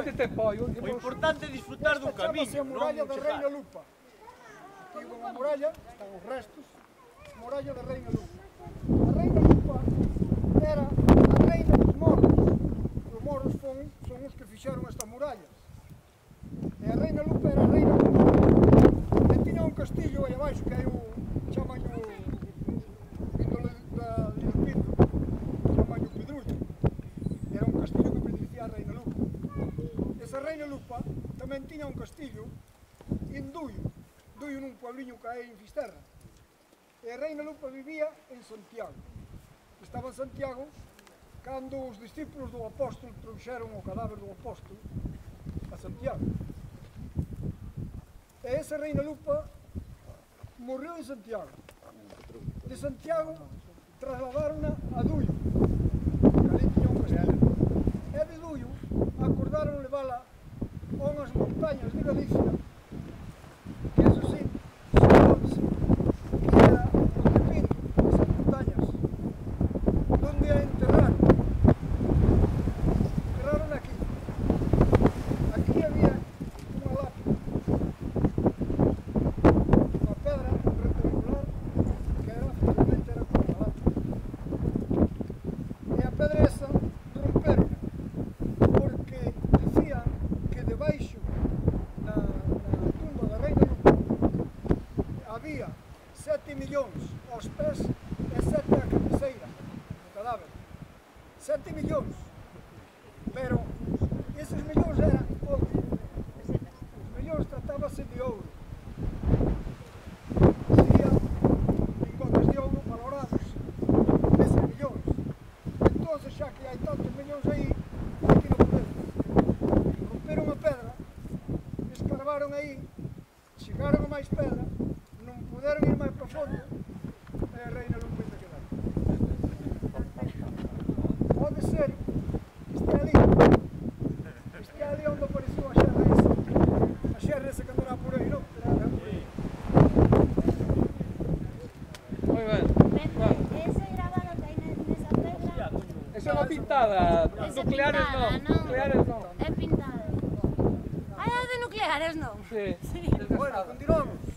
onde te pollo. O importante é disfrutar dun camiño, Esta chamase a muralla da Reina Lupa. Aquí unha muralla, están os restos, muralla da Reina Lupa. A Reina Lupa era a reina dos moros. Os moros son os que fixeron esta muralla. E a Reina Lupa era a reina dos moros. E tiña un castillo aí abaixo que hai o chamaño índole da Pedro, chamaño Pedrullo. Era un castillo que pertencía á Reina Lupa. Esa Reina Lupa tamén tiña un castillo en Duio nun puebliño que hai en Fisterra. E a Reina Lupa vivía en Santiago. Estaba en Santiago cando os discípulos do apóstol trouxeron o cadáver do apóstol a Santiago. E esa Reina Lupa morreu en Santiago. De Santiago trasladaron a Duio, que ali tiña un castillo. E de Duio acordaron levala a unhas montañas de Galicia, que eso sí, sabónse que era Montepinto, esas montañas, donde a enterrar. Enterraron aquí. Aquí había unha lápida, unha pedra rectangular que era, efectivamente, era como unha lápida. E a pedra esa romperon, porque dicían que debaixo na tumba da Reina Lupa había 7 millóns aos pés e 7 a cabeceira do cadáver. 7 millóns. Pero eses millóns eran ouro. Os millóns tratábase de ouro. Serían lingotes de ouro valorados neses millóns. Entón, xa que hai tantos millóns aí, aquí non podemos. Romperon a pedra, escarbaron aí, chegaron a máis pedra, non puderon ir máis profundo, e a Reina Lupa ainda quedaron. Pode ser que este ali onde apareceu a xerra esa que andará por aí, non? Moi ben. Ese gravado que hai nesa pedra Esa é unha pintada. Nucleares non. Nucleares non. é pintada. Ai, as de nucleares non. Sí. Bueno, continuamos.